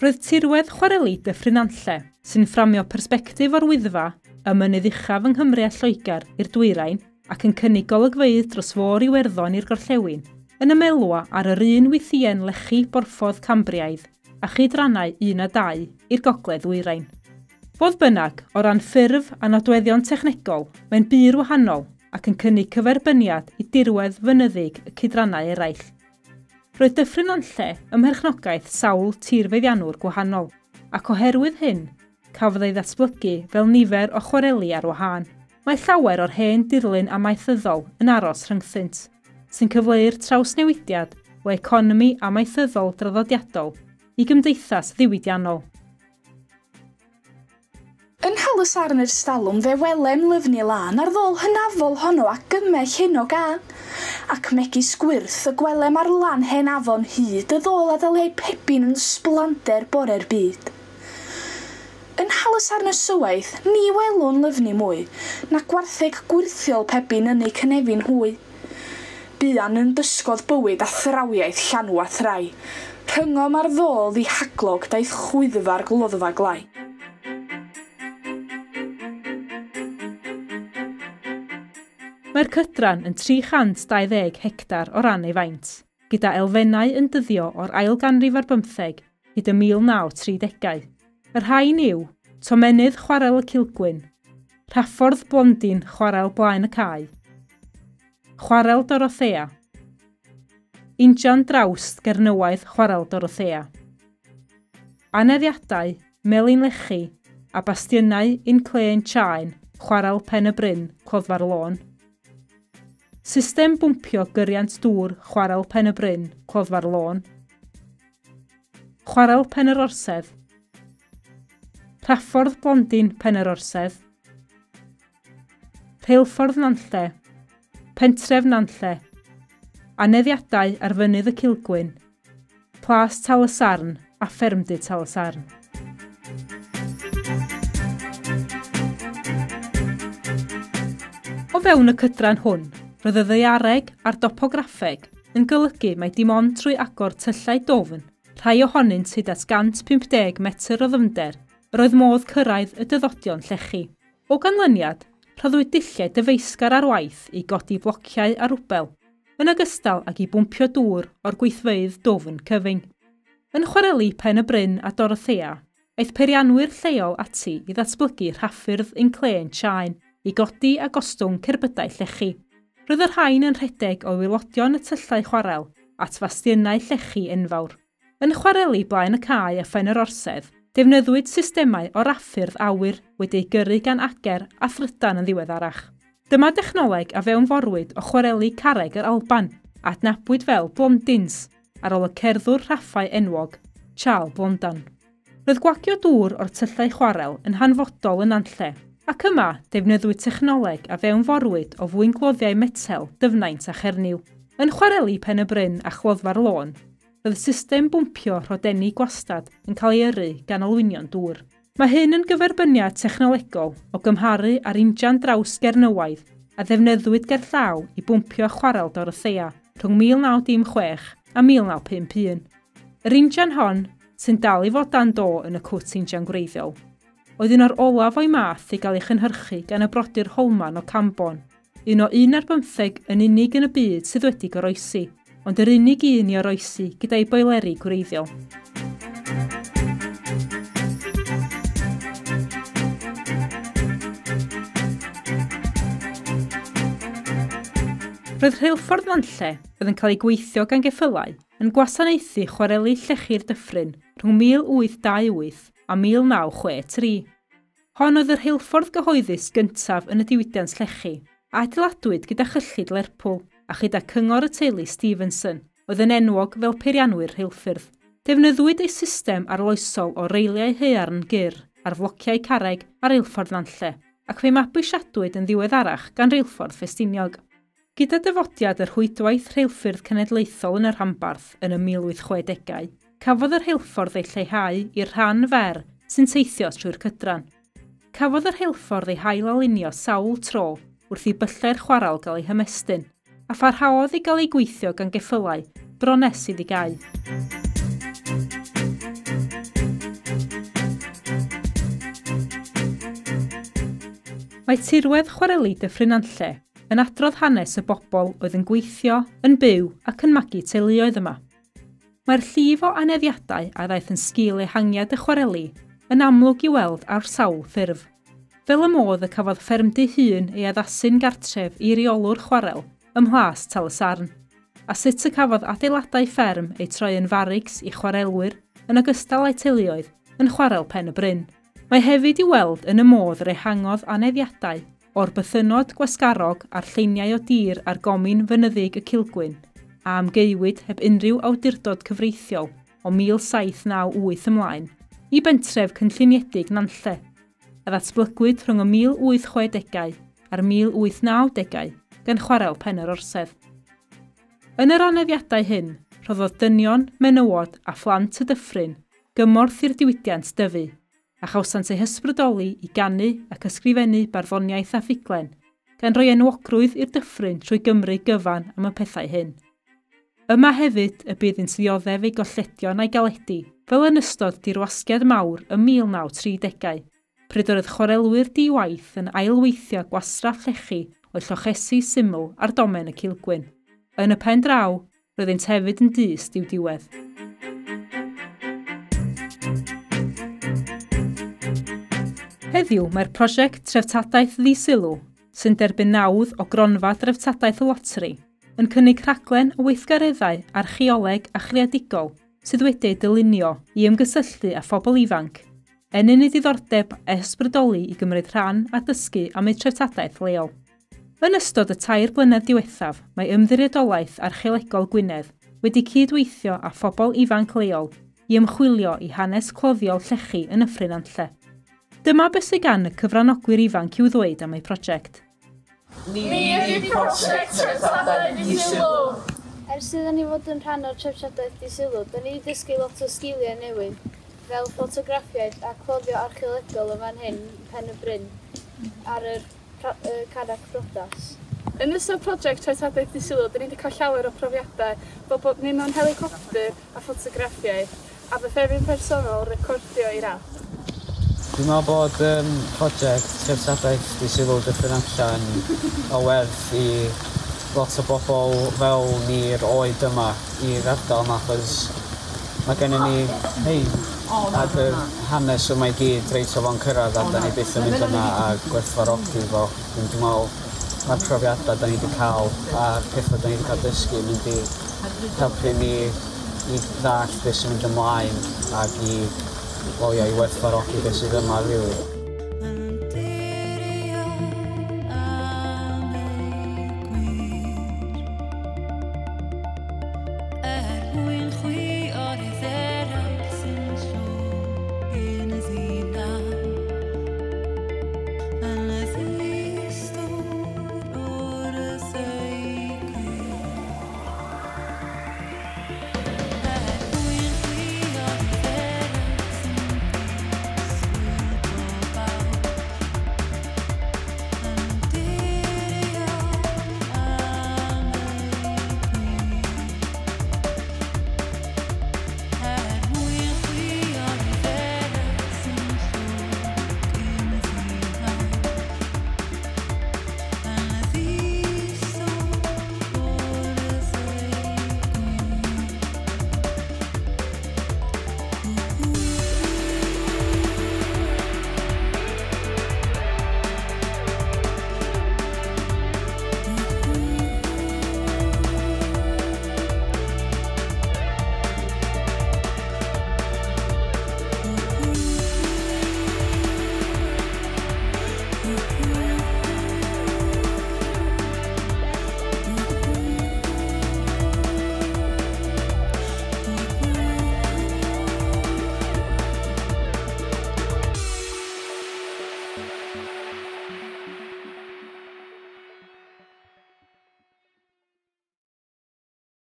Roedd tirwedd chwareli Dyffryn Nantlle, sy'n fframio persbectif o'r Wyddfa, y mynydd uchaf yng Nghymru a Lloegr i'r dwyrain ac yn cynnig golygfeydd dros fôr Iwerddon i'r gorllewin, yn ymelwa ar yr un wythïen lechi borffodd Cambriaidd a chydrannau 1 a 2 i'r gogledd ddwyrain. Fodd bynnag, o ran ffurf a nodweddion technegol, mae'n bur wahanol ac yn cynnig cyferbyniad i dirwedd fynyddig y cydrannau eraill. Roedd Dyffryn Nantlle ym mherchnogaeth sawl tirfeddiannwr gwahanol, ac oherwydd hyn, cafodd ei ddatblygu fel nifer o chwareli ar wahân. Mae llawer o'r hen dirlun amaethyddol yn aros rhyngthynt, sy'n cyfleu'r trawsnewidiad o economi amaethyddol draddodiadol i gymdeithas ddiwydiannol. Yn Nhal-y-sarn ers talwm fe welem lyfni lân ar ddôl hynafol honno a gymell hyn o gân, ac megis gwyrth y gwelem ar lan hen afon hyd y ddôl a ddaliai pebin yn sblander bore'r byd. Yn Nhal-y-sarn ysywaeth, ni welwn lyfni mwy, na gwartheg gwyrthiol pebin yn eu cynefin hwy. Buan yn dysgodd bywyd a thrawiaeth llanw a thrai, rhyngom ar ddôl ddihaglog daeth chwyddfa'r gloddfa glai. Mae'r cydran yn 320 hectar o ran ei faint, gyda elfennau yn dyddio o'r ail ganrif ar bymtheg hyd y 1930au. Y rhain yw Tomennydd Chwarel y Cilgwyn, Rhaffordd Blondin Chwarel Blaen y Cae, Chwarel Dorothea, Injan Drawst Gernywaidd Chwarel Dorothea, Aneddiadau, Melin Lechi a Bastiynau Inclên Chaen Chwarel Pen y Bryn, Cloddfa'r Lôn. System bwmpio gyriant dŵr Chwarel Pen y Bryn, Cloddfa'r Lôn. Chwarel Pen yr Orsedd. Rhaffordd Blondin Pen yr Orsedd. Rheilffordd Nantlle. Pentref Nantlle. Aneddiadau ar fynydd y Cilgwyn. Plas Tal-y-sarn a Ffermdy Tal-y-sarn. O fewn y cydran hwn, roedd y ddaeareg a'r dopograffeg yn golygu mai dim ond trwy agor tyllau dofn, rhai ohonynt hyd at 150 metr o ddyfnder, yr oedd modd cyrraedd y dyddodion llechi. O ganlyniad, rhoddwyd dulliau dyfeisgar ar waith i godi blociau a rwbel, yn ogystal ag i bwmpio dŵr o'r gweithfeydd dofn cyfyng. Yn chwareli Pen y Bryn a Dorothea, aeth peirianwyr lleol ati i ddatblygu rhaffyrdd inclên Chaen i godi a gostwng cerbydau llechi. Roedd y rhain yn rhedeg o waelodion y tyllau chwarel at fastiynau llechi enfawr. Yn chwareli Blaen y Cae a Phen yr Orsedd, defnyddiwyd systemau o raffyrdd awyr wedi'u gyrru gan ager a thrydan yn ddiweddarach. Dyma dechnoleg a fewnforwyd o chwareli carreg yr Alban, a adnabwyd fel Blondins, ar ôl y cerddwr rhaffau enwog, Charles Blondin. Roedd gwagio dŵr o'r tyllau chwarel yn hanfodol yn Nantlle, ac yma defnyddiwyd technoleg a fewnforwyd o fwyngloddiau metel, dyfnaint a chernyw. Yn chwareli Pen y Bryn a Chloddfa'r Lôn, roedd system bwmpio rhodenni gwastad yn cael ei yrru gan olwynion dŵr. Mae hyn yn gyferbyniad technolegol o gymharu â'r injan draws Gernywaidd a ddefnyddiwyd gerllaw i bwmpio chwarel Dorothea rhwng 1916 a 1951. Yr injan hon, sy'n dal i fod dan do yn y cwt injan gwreiddiol, oedd un o'r olaf o'i math i gael ei chynhyrchu gan y brodyr Holman o Cambon, un o 11 yn unig yn y byd sydd wedi goroesi, ond yr unig un i oroesi gyda'i boeleri gwreiddiol. Roedd rheilffordd Nantlle, oedd yn cael ei gweithio gan geffylau, yn gwasanaethu chwareli llechi'r dyffryn rhwng 1828 a 1963. Hon oedd y rheilffordd gyhoeddus gyntaf yn y diwydiant llechi, a adeiladwyd gyda chyllid Lerpwl a chyda cyngor y teulu Stevenson, oedd yn enwog fel peirianwyr rheilffyrdd. Defnyddiwyd ei system arloesol o reiliau haearn gyr ar flociau carreg ar reilffordd Nantlle, ac fe'i mabwysiadwyd yn ddiweddarach gan reilffordd Ffestiniog. Gyda dyfodiad yr rhwydwaith rheilffyrdd cenedlaethol yn y rhanbarth yn y 1860au, cafodd y rheilffordd ei lleihau i'r rhan fer sy'n teithio trwy'r cydran. Cafodd y rheilffordd ei hail-alinio sawl tro wrth i byllau'r chwarel gael ei hymestyn, a pharhaodd i gael ei gweithio gan geffylau bron nes iddi gau. Mae tirwedd chwareli Dyffryn Nantlle yn adrodd hanes y bobl oedd yn gweithio, yn byw ac yn magu teuluoedd yma. Mae'r llif o aneddiadau a ddaeth yn sgil ehangiad y chwareli yn amlwg i weld ar sawl ffurf. Fel y modd y cafodd ffermdy hŷn ei addasu'n gartref i reolwr chwarel ym Mhlas Tal-y-sarn, a sut y cafodd adeiladau fferm eu troi yn farics i chwarelwyr yn ogystal â'u teuluoedd yn chwarel Pen y Bryn. Mae hefyd i weld yn y modd yr ehangodd aneddiadau o'r bythynnod gwasgarog a'r lleiniau o dir ar gomin fynyddig y Cilgwyn, a amgaewyd heb unrhyw awdurdod cyfreithiol o 1798 ymlaen, i bentref cynlluniedig Nantlle, a ddatblygwyd rhwng y 1860au a'r 1890au gan chwarel Pen yr Orsedd. Yn yr aneddiadau hyn, rhoddodd dynion, menywod a phlant y dyffryn gymorth i'r diwydiant dyfu, a chawsant eu hysbrydoli i ganu ac ysgrifennu barddoniaeth a ffuglen, gan roi enwogrwydd i'r dyffryn trwy Gymru gyfan am y pethau hyn. Yma hefyd y bydd yn dioddef ei golledion a'i galedi, fel yn ystod dirwasgiad mawr ym 1930au, pryd yr oedd chwarelwyr di-waith yn ailweithio gwastraff llechi o'u llochesi syml ar domen y Cilgwyn. Yn y pen draw, roeddynt hefyd yn dyst i'w diwedd. Heddiw mae'r prosiect Treftadaeth Ddi-sylw, sy'n derbyn nawdd o gronfa Dreftadaeth y Loteri, yn cynnig rhaglen o weithgareddau archeoleg a chreadigol sydd wedi eu dylunio i ymgysylltu â phobl ifanc, ennyn eu diddordeb a ysbrydoli i gymryd rhan a dysgu am eu treftadaeth leol. Yn ystod y 3 blynedd diwethaf, mae Ymddiriedolaeth Archeolegol Gwynedd wedi cydweithio â phobl ifanc leol i ymchwilio i hanes cloddiol llechi yn Nyffryn Nantlle. Dyma beth sydd gan y cyfranogwyr ifanc i'w ddweud am eu prosiect. Ni ydi prosiect Treftadaeth Ddi-sylw! Ers iddyn ni fod yn rhan o'r Treftadaeth Ddi-sylw, da ni wedi dysgu lot o sgiliau newydd, fel ffotograffiaeth a cloddio archeolegol yn fan hyn, Pen y Bryn, ar yr Carreg Priodas. Yn ystod prosiect Treftadaeth Ddi-sylw, da ni wedi cael llawer o profiadau, fel bod ni mewn helicopter a ffotograffiaeth, a fy ffefryn personol recordio i'r app. Dwi'n meddwl bod prosiect Treftadaeth Ddi-sylw Dyffryn Nantlle o werth i lot o bobl fel ni'r oed yma i'r ardal yma, achos mae gennym ni hei, ac yr hanes yma i gyd reit o fo'n cyrraedd a da ni byth yn mynd yna a gwerthfawrogi fo. Dwi'n meddwl mae'r profiadau da ni wedi cael a'r pethau da ni wedi cael dysgu yn mynd i helpu ni i ddallt beth sy'n mynd ymlaen ac i i werthfawrogi beth sydd yma, rili.